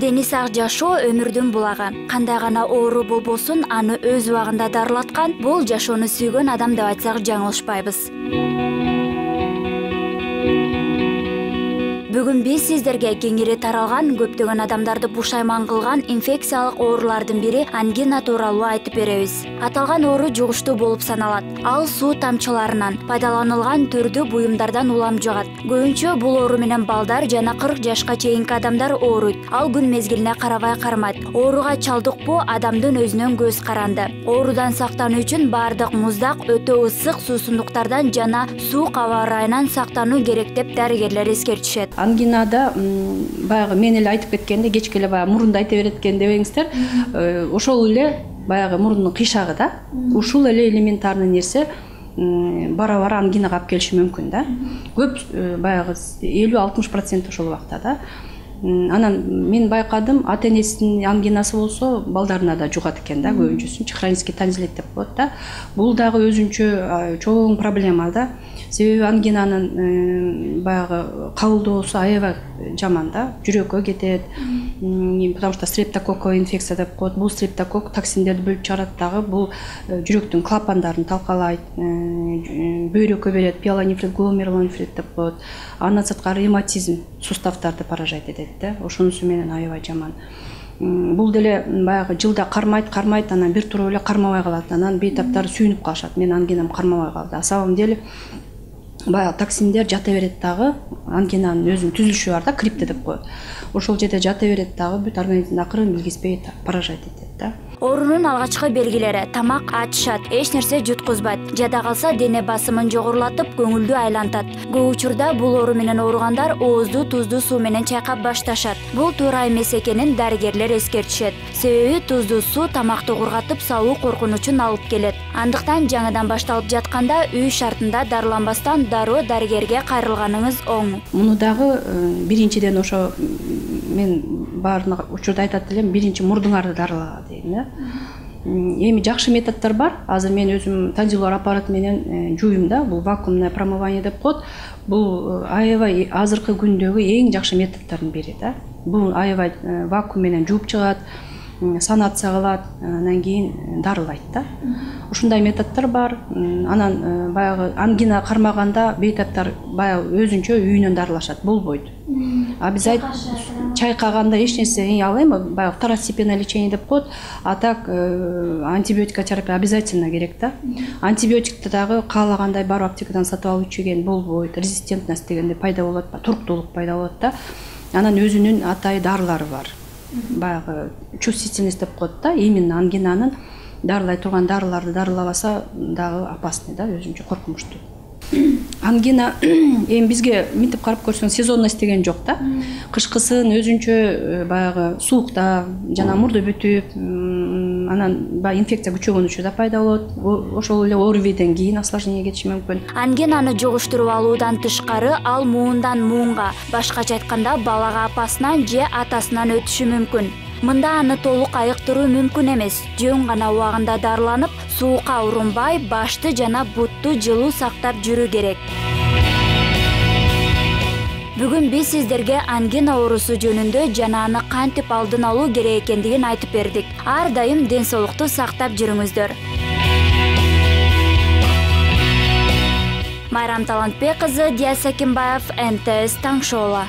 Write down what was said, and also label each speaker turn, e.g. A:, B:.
A: Тени сак жашоо өмүрдүн булагы. Кандай гана оору болбосун, аны өз убагында дарылаткан бул жашоону сүйгөн адам деп айтсак жаңылышпайбыз. Бүгүн биз сиздерге кеңири таралган, көптөгөн адамдарды пушайман кылган инфекциялык оорулардын бири ангина тууралуу айтып беребиз. Аталган оору жугуштуу болуп саналат. Ал суу тамчыларынан, пайдаланылган түрдүү буюмдардан улам жугат. Көбүнчө бул оору менен балдар жана 40 жашка чейинки адамдар ооруйт. Ал күн мезгилине карабай кармайт. Ооруга чалдыкпоо адамдын өзүнөн көз каранды. Оорудан сактануу үчүн баардык муздак, өтө ысык суусундуктардан жана суук аба ырайынан сактануу керек деп дарыгерлер эскертишет.
B: Ангинада баягы мен эле айтып кеткенде, кечке эле баягы мурунду айта берет экен дебеңиздер. Ошол эле баягы мурундун кыйшагы да. Ушул эле элементарный нерсе бара-бара ангинага алып келиши мүмкүн да. Көп баягы 50-60% ошол убакта да. Анан мен байкадым, ата-энесинин ангинасы болсо, балдарына да жугат экен да, көбүнчөсүнчү хронический танзилит деп коет да. Бул дагы өзүнчө чоң проблема да. Себеби ангинанын баягы кабылдоосу аябай жаман да, жүрөккө кетет. Потому что стрептококковый инфекция деп коет. Бул стрептокок токсиндерди бөлүп чыгарат дагы, бул жүрөктүн клапандарын талкалайт, бөйрөккө берет, пиелонефрит, гломерулонефрит деп коет. Андан сырткары ревматизм, суставдарды поражать этет да. Ошонусу менен аябай жаман. Бул деле баягы жылда кармайт, анан бир туруп эле кармабай калат. Анан бейтаптары сүйүнүп калышат. Мен ангинам кармабай калды. На самом деле баягы токсиндер жата берет дагы, ангинанын өзүнүн түзүлүшү бар да, крипте деп коет. Ошол жерде жата берет дагы, бүт организмди акырын билгизбей поражать этет да.
A: Оорунун алгачкы белгилери: тамак ачышат, эч нерсе жуткузбайт, жада калса дене басымын жогорулатып, көңүлдүү айлантат. Көп учурда бул оору менен ооругандар оозду туздуу суу менен чайкап башташат. Бул туура эмес экенин дарыгерлер эскертишет. Себеби туздуу суу тамакты кургатып салуу коркунучун алып келет. Андыктан жаңыдан башталып жатканда үй шартында дарыланбастан дароо дарыгерге кайрылганыңыз оң.
B: Муну дагы биринчиден ошо мен баарын учурда айтат элем, биринчи мурдуңарды дарылага дейм да. Эми жакшы методдор бар. Азыр мен өзүм танзилуар аппарат менен жууйм да. Бул вакуумное промывание деп коет. Бул аябай азыркы күндөгү эң жакшы методдордун бири да. Бул аябай вакуум менен жууп чыгат, санация кылат, андан кийин дарылайт да. Ушундай методдор бар. Анан баягы ангина кармаганда бейтаптар баягы өзүнчө үйүнөн дарылашат, болбойт. Обязательно чайкаганда эч нерсе ал эми баягы второстепенное лечение деп коет. А так антибиотикотерапия обязательно керек да. Антибиотикти дагы каалагандай барып аптекадан сатып алып ичген болбойт. Резистентность дегенде пайда болот, туруктуулук пайда болот да. Анан өзүнүн атайын дарылары бар. Баягы чувствительность деп коет да. Именно ангинанын дарылай турган дарыларды дарылабаса дагы опасный да, өзүнчө коркунучтуу. Ангина эми бизге мынтип карап көрсөң сезонность деген жок да. Кышкысын өзүнчө баягы суукта жана мурду бүтүп, анан баягы инфекция күчөгөн учурда пайда болот. Ошол эле ОРВИден кийин осложнение кетиши мүмкүн.
A: Ангинаны жугуштуруп алуудан тышкары ал муундан муунга, башкача айтканда балага апасынан же атасынан өтүшү мүмкүн. Мында аны толук айыктыруу мүмкүн эмес. Жөн гана убагында дарыланып, суукка урунбай, башты жана бутту жылуу сактап жүрүү керек. Бүгүн биз сиздерге ангина оорусу жөнүндө жана аны кантип алдын алуу керек экендигин айтып бердик. Ар дайым ден соолукту сактап жүрүңүздөр. Майрам Талантбек кызы, Диас Акимбаев, НТС Таң шоу.